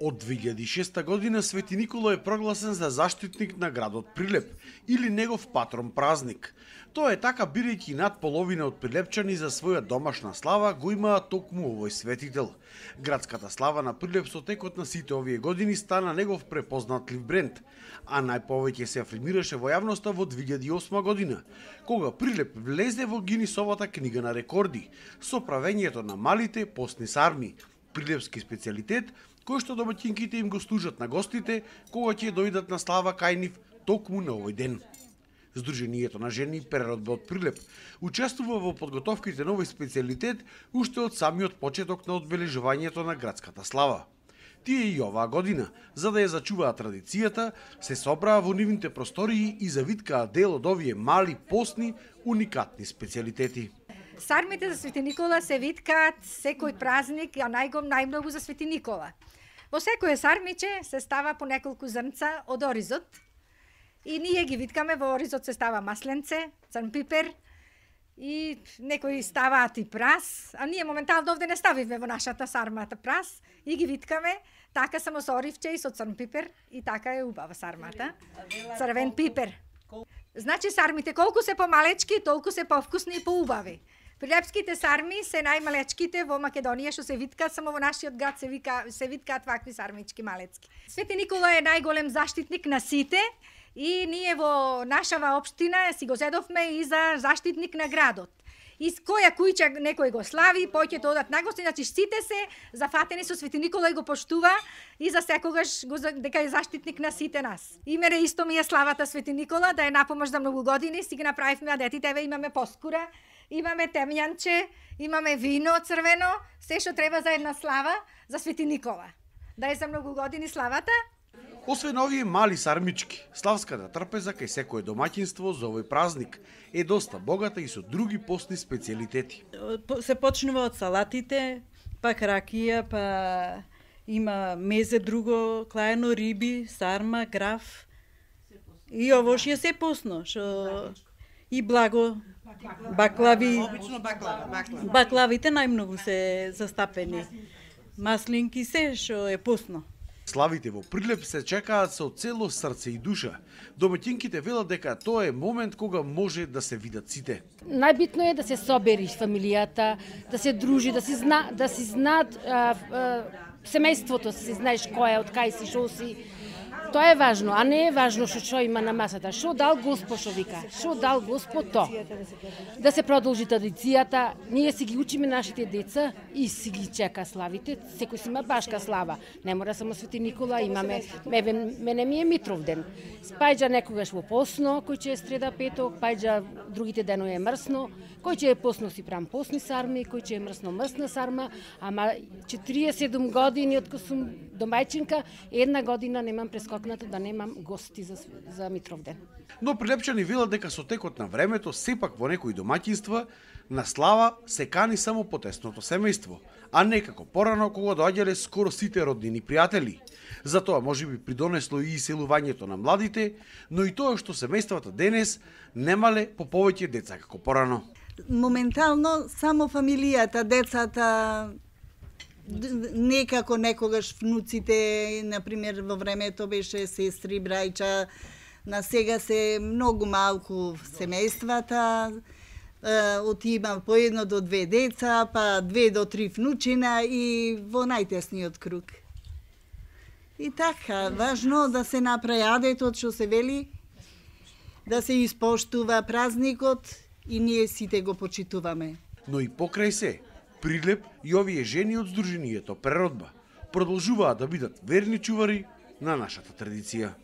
Од 2006 година Свети Никола е прогласен за заштитник на градот Прилеп или негов патрон празник. Тоа е така бидејќи над половина од прилепчани за своја домашна слава го имаат токму овој светител. Градската слава на Прилеп со текот на сите овие години стана негов препознатлив бренд, а најповеќе се афирмираше во јавноста во 2008 година, кога Прилеп влезе во Гинисовата книга на рекорди со правењето на малите постни сарми, прилепски специјалитет кој што домаќинките им го служат на гостите кога ќе дојдат на слава кај нив токму на овој ден. Сдруженијето на жени Преродба од Прилеп учествува во подготовките на овој специјалитет уште од самиот почеток на одбележувањето на градската слава. Тие и оваа година, за да ја зачуваат традицијата, се собраа во нивните простории и завиткаа дел од овие мали постни уникатни специјалитети. Сармите за Свети Никола се виткаат секој празник, а најмногу за Свети Никола. Во секое сармиче се става по неколку зрнца од оризот и ние ги виткаме. Во оризот се става масленце, црн пипер и некои ставаат и прас, а ние моментално овде не ставивме во нашата сармата прас и ги виткаме така само со оривче и со црн пипер и така е убава сармата. Црвен пипер. Значи сармите колку се помалечки, толку се повкусни и поубави. Прилепските сарми се најмалечките во Македонија што се виткаат, само во нашиот град се виткаат вакви сармички малецки. Свети Никола е најголем заштитник на сите и ние во нашава општина си го зедовме и за заштитник на градот. И која кујче некој го слави, поќе тоа одат нагости, значи сите се зафатени со Свети Никола и го поштува и за секогаш дека е заштитник на сите нас. Име исто ми е славата Свети Никола, да е напомош за многу години, си ги направивме, а детите еве имаме поскура, имаме темјанче, имаме вино црвено, се што треба за една слава за Свети Никола. Да е за многу години славата. Освен овие мали сармички, славската трпеза кај секое домаќинство за овој празник е доста богата и со други постни специјалитети. Се почнува од салатите, па ракија, па има мезе друго, клаено риби, сарма, граф. И ово што е се постно, што и благо, баклави. Обично баклава. Баклавите најмногу се застапени. Маслинки се што е постно. Славите во Прилеп се чекаат со цело срце и душа. Домаќинките велат дека тоа е момент кога може да се видат сите. Најбитно е да се собери фамилијата, да се дружи, да си знаат семејството, да си знаеш кој е, од кај си, шо си. Тоа е важно, а не е важно што има на масата. Шо дал Господ, што вика? Шо дал Господ то? Да се продолжи традицијата, ние си ги учиме нашите деца и си ги чека славите. Секој си има башка слава. Не мора само Свети Никола, имаме, мене ми е Митровден. Пајџа некогаш во посно, кој ќе е среда петок, пајџа другите денови е мрсно, кој ќе е посно си прам постни сарми, кој ќе е мрсна сарма, ама 47 години откако сум домајчинка, една година немам прескокнато да немам гости за Митровден. Но прилепчани велат дека со текот на времето сепак во некои домаќинства на слава се кани само потесното семејство, а не како порано кога доаѓале скоро сите роднини пријатели. Затоа можеби придонесло и иселувањето на младите, но и тоа што семејствата денес немале по повеќе деца како порано. Моментално само фамилијата, децата, некако некогаш внуците, например во времето беше сестри, брајча, на сега се многу малку семејствата, отима по 1 до 2 деца, па 2 до 3 внучина и во најтесниот круг. И така, важно да се направи адетот што се вели, да се испоштува празникот и ние сите го почитуваме. Но и покрај се, Прилеп и овие жени од Сдруженијето Преродба продолжуваат да бидат верни чувари на нашата традиција.